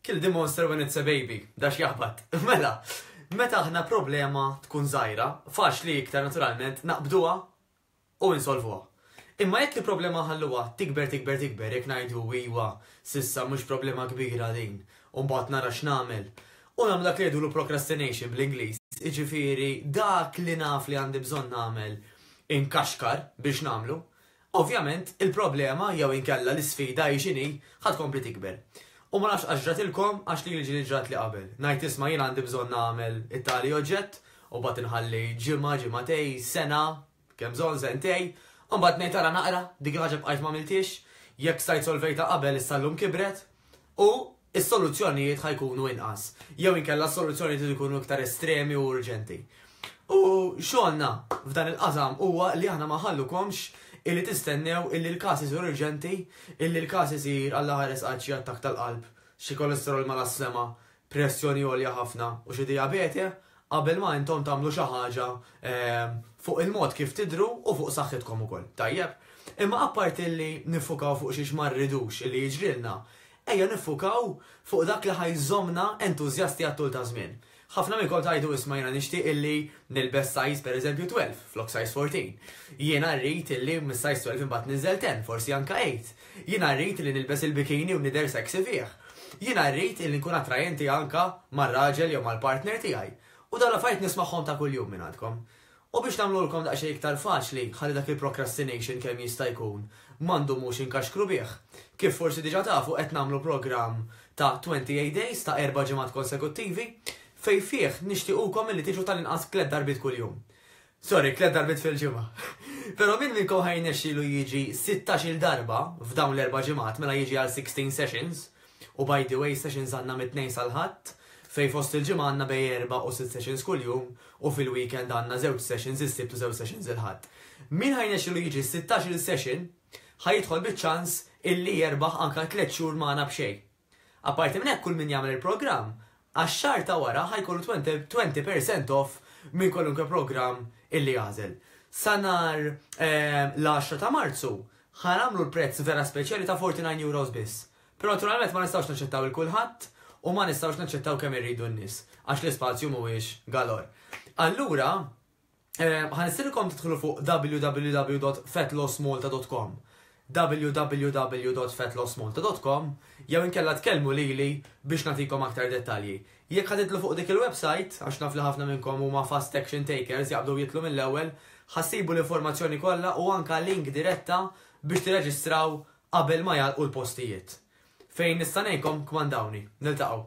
Kill the monster when it's a baby, dax jaħbat. Mela, meta aħna problema tkun żgħira, faċli iktar naturalment naqbduha u insolvuha. Imma jekk il-problema nħalluha tikber tikber tikber, jekk ngħidu iwa, s'issa mhux problema kbira din, u mbagħad nara x'nagħmel, u nagħmlu dak li jgħidulu procrastination bl-Ingliż, jiġifieri dak li naf li għandi bżonn nagħmel inkaxkar biex nagħmlu, ovvjament il-problema jew inkella l-isfida hi x'inhi ħa tkompli tikber. U ma nafx għax ġratilkom għax lili ġieli ġratli qabel. Ngħid isma' jien għandi bżonn nagħmel it-tali oġġett u mbagħad inħalli ġimgħa, ġimagħtej, sena, Kemm bżonn sentej, u mbagħad ngħid ara naqra, dik il-ħaġa bqajt m'għamilthiex, jekk stajt solvejtha qabel issa llum kibret, u s-soluzzjonijiet ħa jkunu inqas, jew inkella s-soluzzjonijiet ikunu iktar estremi u urġenti. U xogħolna f'dan il-qasam huwa li aħna ma nħallukomx illi tistennew illi l-każ isir urġenti, illi l-każ isir Alla ħares qatt xi attakk tal-qalb, xi kolesterol mal-sema, pressjoni għolja ħafna u xi dijabete, qabel ma intom tagħmlu xi ħaġa fuq il-mod kif tidhru u fuq saħħitkom ukoll. Tajjeb? Imma apparti li niffukaw fuq xiex ma rridux illi jiġrilna, ejja niffukaw fuq dak li ħa jżommna entużjasti għat-tul ta' żmien. Ħafna minnkom tgħidu isma' jiena nixtieq illi nilbes size pereżempju 12 flok size 14. Jiena rrid illi mis-size 12 imbagħad ninżel 10, forsi anke 8. Jiena rrid illi nilbes il-bikini u nidher sexy fih. Jiena rrid illi nkun attrajenti anke mar-raġel jew mal-partner tiegħi. U dawn l-affarijiet nismagħhom ta' kuljum mingħandkom. U biex nagħmluhulkom daqsxejn iktar faċli, ħalli dak il-procrastination kemm jista' jkun ma ndumux inkaxkru bih. Kif forsi diġà tafu qed nagħmlu programm ta' 28 days ta' erba' ġimgħat konsekuttivi fejn fih nixtiequkom illi tiġu tal-inqas tliet darbiet kuljum. Sorry, tliet darbiet fil-ġimgħa. Però min minnkom ħa jirnexxilu jiġi sittax-il darba f'dawn l-erba' ġimgħat, mela jiġi għal 16 sessions, u by the way sessions għandna mit-Tnejn sal-Ħadd, fejn fost il-ġimgħa għandna bejn erba' u sitt sessions kuljum, u fil-weekend għandna żewġ sessions is-Sibt u żewġ sessions il-Ħadd. Min ħa jirnexxilu jiġi sittax-il session, ħa jidħol biċ-ċans illi jerbaħ anke tliet xhur magħna b'xejn. Apparti minn hekk kull min jagħmel il-programm, għax-xahar ta' wara ħa jkollu 20 percent off minn kwalunkwe programm illi jagħżel. Sa nhar l-10 ta' Marzu ħa nagħmlu l-prezz vera speċjali ta' €49 biss. Però naturalment ma nistgħux naċċettaw il kulħadd u ma nistgħux naċċettaw kemm irridu n-nies għax l-ispazju mhuwiex galor. Allura, ħa nistedinkom tidħlu fuq www.fatlossmalta.com www.fatlossmalta.com jew inkella tkellmu lili biex nagħtikom aktar dettalji. Jekk ħa tidħlu fuq dik il-website, għax naf li ħafna minnkom huma fast action takers jaqbdu jidħlu mill-ewwel, ħa ssibu l-informazzjoni kollha u anka link diretta biex tirreġistraw qabel ma jagħlqu l-postijiet. Fejn nista' ngħinkom kmandawni. Niltaqgħu.